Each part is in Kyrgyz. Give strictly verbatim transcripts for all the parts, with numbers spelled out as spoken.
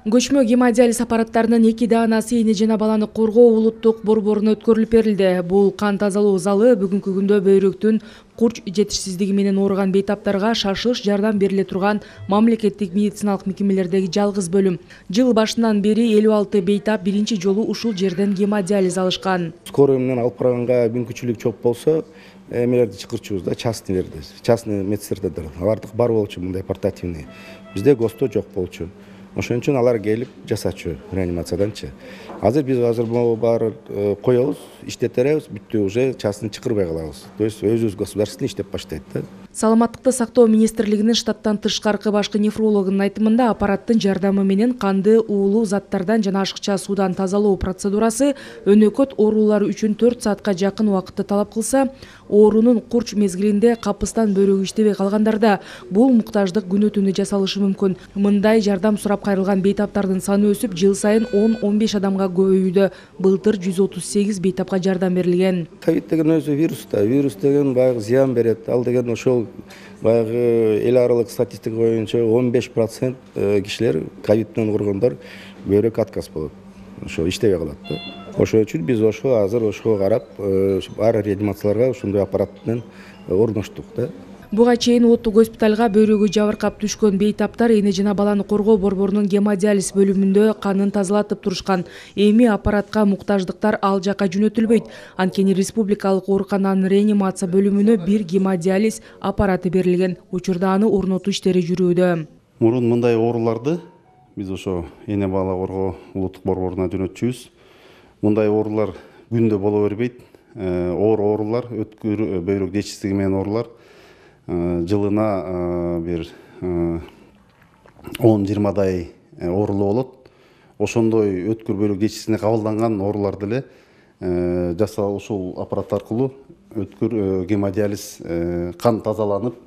Көчмө гемодиализ аппараттарынын эки даанасы эне жана баланы коргоо улуттук борборуна өткөрүлүп берилди. Бул кан тазалоо залы бүгүнкү күндө бөйрөктүн курч жетишсиздиги менен ооруган бейтаптарга шашылыш жардам бериле турган мамлекеттик медициналык мекемелердеги жалгыз бөлүм. Жыл башынан бери элүү алты бейтап биринчи жолу ушул жерден гемодиализ алышкан. Скорый менен алып барганга мүмкүнчүлүк жок болсо, эмелерди чакырчубуз да, частныйлерди, частный медсестрдер. Алардык бар болчу мындай портативный. Бизде ГОСТо жок болчу. Ошон үчүн алар келип жасачу реанимацияданчы. Азыр биз азыр баары коебуз, иштетеребиз, бүттү уже частный чакырбай калабыз. То есть өзүбүз государственный иштеп баштайт да. Саламаттыкты сактоо министрлигинин штаттан тышкаркы башкы нефрологунун айтымында аппараттын жардамы менен канды уулуу заттардан жана ашыкча суудан тазалоо процедурасы өнөкөт оорулар үчүн төрт саатка жакын убакытты талап кылса, оорунун курч мезгилинде капыстан бөйрөгү иштебей калгандарда бул муктаждык күнү түнү жасалышы мүмкүн. Мындай жардам сурап кайрылган бейтаптардын саны өсүп, жыл сайын он он беш адамга көбөйүүдө. Былтыр жүз отуз сегиз бейтапка жардам берилген. Ковид деген өзү вирус да, вирус деген баягы зыян берет. Ал деген ошол баягы эл аралык статистика боюнча он беш процент кишилер ковид менен ооругондар бөйрөк отказ болот. Ошо иштебей калат да. Ошон үчүн биз ошо азыр ошого карап баары реанимацияларга ушундай аппарат менен орноштук да. Буга чейин оттук госпиталга бөйрөгү жабыркап түшкөн бейтаптар эне жана баланы коргоо борборунун гемодиализ бөлүмүндө канын тазалатып турушкан. Эми аппаратка муктаждыктар ал жака жөнөтүлбөйт. Анткени республикалык оорукананын реанимация бөлүмүнө бир гемодиализ аппараты берилген. Учурда аны орнотуу иштери жүрүүдө. Мурун мындай ооруларды биз ошо эне бала коргоо улуттук борборуна жөнөтчүбүз. Мындай оорулар күндө боло бербейт. Оор оорулар, өткүр бөйрөк жетишсиздиги менен оорулар жылына бир он жыйырмадай оорулуу болот. Ошондой өткүр бөйрөк жетишсиздигине кабылданган оорулар деле жасал ушул аппарат аркылуу өткүр гемодиализ кан тазаланып,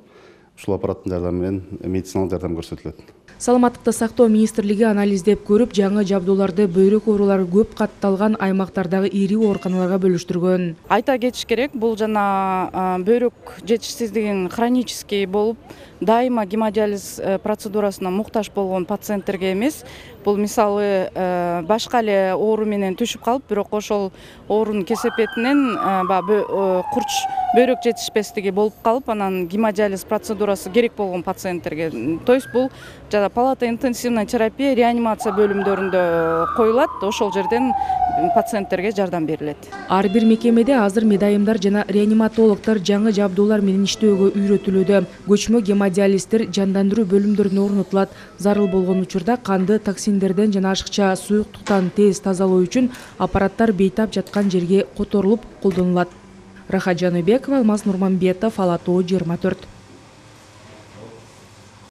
ушул аппараттын жардамы менен медициналык жардам көрсөтүлөт. Саламаттыкты сактоо министрлиги анализдеп көрүп, жаңы жабдууларды бөйрөк оорулары көп катталган аймактардагы ири ооруканаларга бөлүштүргөн. Айта кетиш керек, бул жана бөйрөк жетишсиздигин хронический болуп, дайыма гемодиализ процедурасына муктаж болгон пациенттерге эмес. Бул мисалы башка эле оору менен түшүп калып, бирок ошол оорунун кесепетинен курч бөйрөк жетишпестиги болуп калып, анан гемодиализ процедурасы керек болгон пациенттерге. То есть бул жана палата интенсивная терапия реанимация бөлүмдөрүндө коюлат, ошол жерден пациенттерге жардам берилет. Ар бир мекемеде азыр медайымдар жана реаниматологдор жаңы жабдуулар менен иштөөгө үйрөтүлүүдө. Көчмө гемодиализдер жандандыруу бөлүмдөрүнө орнотулат. Зарыл болгон учурда канды токсиндерден жана ашыкча суюктуктан тез тазалоо үчүн аппараттар бейтап жаткан жерге которулуп колдонулат. Рахат Жаныбекова, Алмаз Нурманбетов, Ала Тоо жыйырма төрт.